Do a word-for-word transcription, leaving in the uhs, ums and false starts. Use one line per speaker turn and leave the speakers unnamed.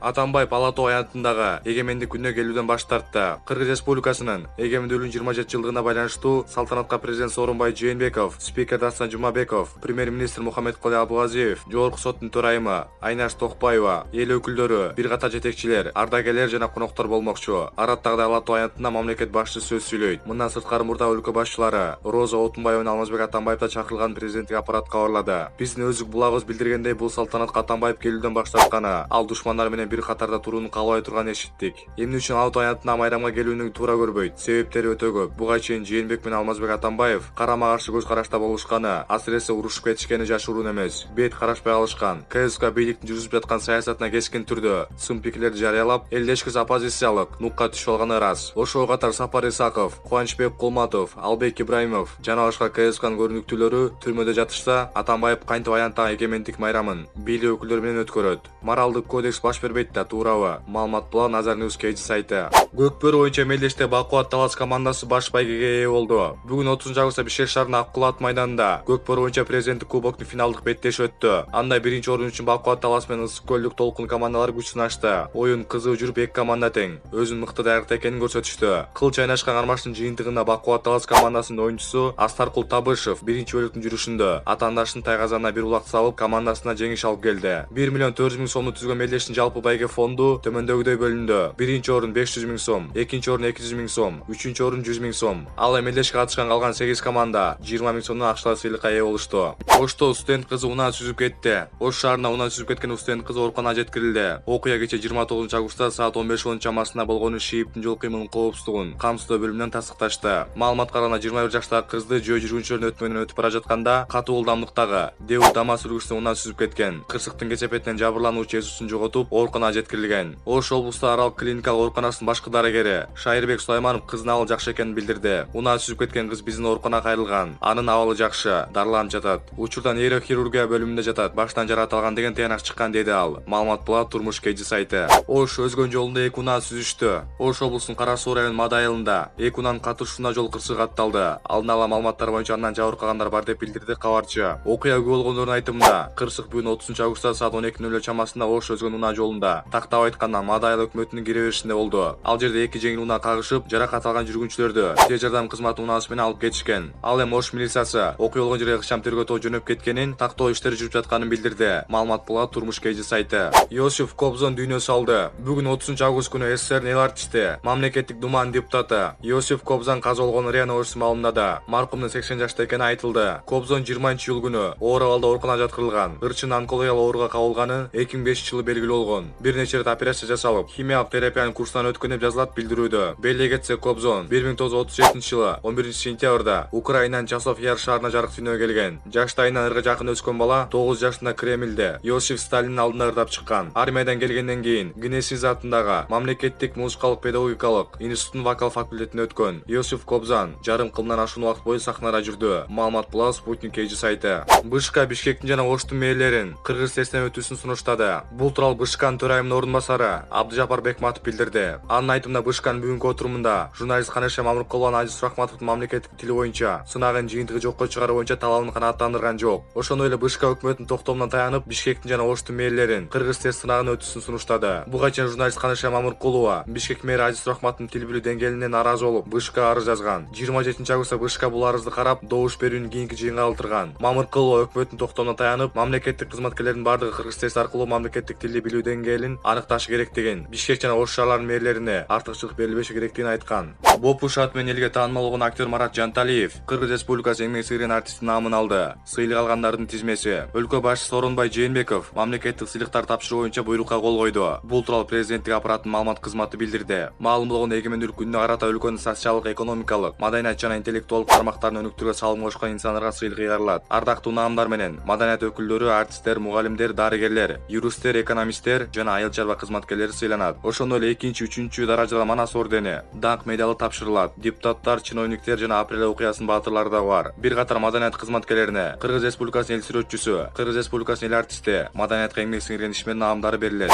Атамбаев Ала Тоо аянтындагы эгемендик күнүнө келүүдөн баш тартты. Кыргыз Республикасынын эгемендүүлүгүнүн жыйырма жети жылдыгына байланыштуу салтанатка президент Сооронбай Жээнбеков, спикер Дастан Жумабеков, премьер-министр Мухаммедкалый Абылгазиев, Жогорку соттун төрайымы Айнаш Токпаева, эл өкүлдөрү, бир катар жетекчилер, ардагерлер жана коноктор болмокчу. Араттагы Ала Тоо аянтында мамлекет башчысы сөз сүйлөйт. Мындан сырткары мурда өлкө башчылары Роза Отунбаева жана Алмазбек Атамбаев да чакырылган президенттик аппарат кабарлады. Биздин өздүк булагыбыз билдиргендей, бул салтанатка Атамбаев келүүдөн баш тартканы, ал душмандар менен бир катарда турууну каалабай турганын эшиттик. Эмне үчүн Ала Тоо аянтына майрамга келүүнү туура көрбөйт? Себептери өтө көп. Буга чейин Жээнбек менен Алмазбек Атамбаев карама каршы көз карашта болушканы, асыресе урушуп кетишкени жашыруун эмес. Бет карашпай алышкан. КСК бийликтин жүргүзүп жаткан саясатына кескин түрдө сын пикирлерди жарыялап, элдешкис оппозициялык нукка түшүп алганы ырас. Ошого катар Сапар Исаков, Кубанычбек Кулматов, Албек Ибраимов жана башка КСКнын көрүнүктүүлөрү түрмөдө жатышса, Атамбаев кантип аянттагы эгемендик майрамын бийлик өкүлдөрү менен өткөрөт? Моралдык кодекс баш бербейт да, туурабы? Маалымат була Назар Ньюс Кейджи сайты. Көкбөрү боюнча мелдеште Бакубат Талас командасы баш байгеге ээ болду. Бүгүн отузунчу августта Бишкек шаарынын Ак Кулат майданында Көкбөрү боюнча президенттик кубоктун финалдык беттеши өттү. Анда биринчи орун үчүн Бакубат Талас менен Ысык көлдүк Толкун командалары күч сынашты. Оюн кызуу жүрүп, эки команда тең өзүнүн мыкты даярдыкта экенин көрсөтүштү. Кыл чайнашкан кармаштын жыйынтыгында Бакубат Талас командасынын оюнчусу Астаркул Табышев биринчи бөлүктүн жүрүшүндө атаандашынын тайгазанына бир улак салып, командасына жеңиш алып келди. бир миллион төрт жүз миң сомду түзгөн мелдештин жалпы байге фонду төмөндөгүдөй бөлүндү. Биринчи орун беш жүз миң сом, экинчи орун эки жүз миң сом, үчүнчү орун жүз миң сом. Ал эми мелдешке катышкан калган сегиз команда жыйырма миң сомдон акчалай сыйлыкка ээ болушту. Ошто студент кызы унаа сүзүп кетти. Ош шаарында унаа сүзүп кеткен студент кызы ооруканага жеткирилди. Окуя кечээ жыйырма тогузунчу августта саат он беш он чамасында болгону ШИИБдин жол кыймылынын коопсуздугун камсыздоо бөлүмүнөн тастыкташты. Маалыматка караганда жыйырма бир жаштагы кызды жөө жүргүнчүлөрдүн өтмөгүнөн өтүп бара жатканда катуу ылдамдыктагы Дэу ДАМАЗ сүргүчүсүнө унаа сүзүп кеткен. Кырсыктын кесепетинен жабырлануучу Эсусун жоготуп, ооруканага жеткирилген. Ош облусту Арал клиникалык ооруканасынын башкы дарыгери Шайырбек Сулайманов кыздын абалы жакшы экенин билдирди. Унаа сүзүп кеткен кыз биздин ооруканага кайрылган. Анын абалы жакшы, дарыланып жатат. Учурда нейрохирургия бөлүмүндө жатат. Баштан жаракат алган деген тыянак чыккан, деди ал. Маалымат була Турмуш Кейджи сайты. Ош өзгөн жолунда эки унаа сүзүштү. Ош облусунун Кара Суу районунун Мадай айылында эки унаанын катышуусунда жол кырсыгы катталды. Алдын ала маалыматтар боюнча андан жабыркагандар бар деп билдирди кабарчы. Окуя күбө болгондордун айтымында, кырсык бүгүн отузунчу августта саат он эки нөл нөл чамасында Ош өзгөн унаа жолунда, тактап айтканда Мадай айыл өкмөтүнүн кире беришинде болду. Ал жерде эки жеңил унаа кагышып, жаракат алган жүргүнчүлөрдү тез жардам кызматы унаасы менен алып кетишкен. Ал эми Ош милициясы окуя болгон жерге ыкчам тергөө тобу жөнөп кеткенин, тактоо иштери жүрүп жатканын билдирди. Маалымат була Турмуш Кейджи сайты. Иосиф Кобзон дүйнө салды. Бүгүн отузунчу август күнү СССРдин эл артисти, мамлекеттик думанын депутаты Иосиф Кобзон каза болгонун РИА Новости маалымдады. Маркумдун сексен жашта экени айтылды. Кобзон жыйырманчы июль күнү оор абалда ооруканага жаткырылган. Ырчын онкологиялык ооруга кабылганы эки миң бешинчи жылы белгилүү болгон. Бир нече ирет операция жасалып, химиялык терапиянын курсунан өткөн деп жазылат билдирүүдө. Беле кетсе, Кобзон бир миң тогуз жүз отуз жетинчи жылы он биринчи сентябрда Украинанын Часов Яр шаарына жарык дүйнөгө келген. Жаштайынан ырга жакын өскөн бала тогуз жашында Кремльде Иосиф Сталиндин алдында ырдап чыккан. Армиядан келгенден кийин Гнесиз атындагы мамлекеттик музыкалык педагогикалык институттун вокал факультетине өткөн. Иосиф Кобзон жарым кылымдан ашуун убакыт бою сахнада жүрдү. Маалымат була Спутник Кейджи сайты. БШК Бишкектин жана Оштун мэрлерин кыргыз тесттен өтүүсүн сунуштады. Бул тууралуу БШКнын төрайымынын орун басары Абдыжапар Бекматов билдирди. Анын айтымында БШКнын бүгүнкү отурумунда журналист Канеша Мамыркулова Азиз Сурахматовдун мамлекеттик тили боюнча сынагын жыйынтыгы жокко чыгаруу боюнча талабын канааттандырган жок. Ошондой эле БШК өкмөттүн токтомуна таянып Бишкектин жана Оштун мэрлерин кыргыз тест сынагын өтүүсүн сунуштады. Буга чейин журналист Канеша Мамыркулова Бишкек мэри Азиз Сурахматовдун тил билүү деңгээлине нааразы болуп БШКга арыз жазган. жыйырма жетинчи августта БШК бул арызды карап, добуш берүүнүн кийинки жыйынга калтырган. Мамыркулова өкмөттүн токтомуна таянып, мамлекеттик кызматкерлердин бардыгы кыргыз тест аркылуу мамлекеттик тилди билүү деңгээлин аныкташы керектигин, Бишкек жана Ош шаарларынын мэрлерине артыкчылык берилбеши керектигин айткан. Бопуш аты менен элге таанымал болгон актер Марат Жанталиев Кыргыз Республикасы эмгек сіңирген артисти наамын алды. Сыйлык алгандардын тизмеси. Өлкө башчысы Сооронбай Жээнбеков мамлекеттик сыйлыктар тапшыруу боюнча буйрукка кол койду. Бул тууралуу президенттик аппараттын маалымат кызматы билдирди. Маалым болгондой, эгемендүүлүк күнүнө карата өлкөнүн социалдык, экономикалык, маданият жана интеллектуалдык тармактарын өнүктүрүүгө салым кошкон инсандарга сыйлык ыйгарылат. Ардактуу наамдар менен маданият өкүлдөрү, артисттер, мугалимдер, дарыгерлер, юристтер, экономисттер жана айыл чарба кызматкерлери сыйланат. Ошондой эле экинчи, үчүнчү даражада Манас ордени, даңк медалы тапшырылат. Депутаттар, чиновниктер жана апрель окуясынын баатырлары да бар. Бир катар маданият кызматкерлерине Кыргыз Республикасынын эл сүрөтчүсү, Кыргыз Республикасынын эл артисти, маданиятка эмгек сиңирген ишмер наамдары берилет.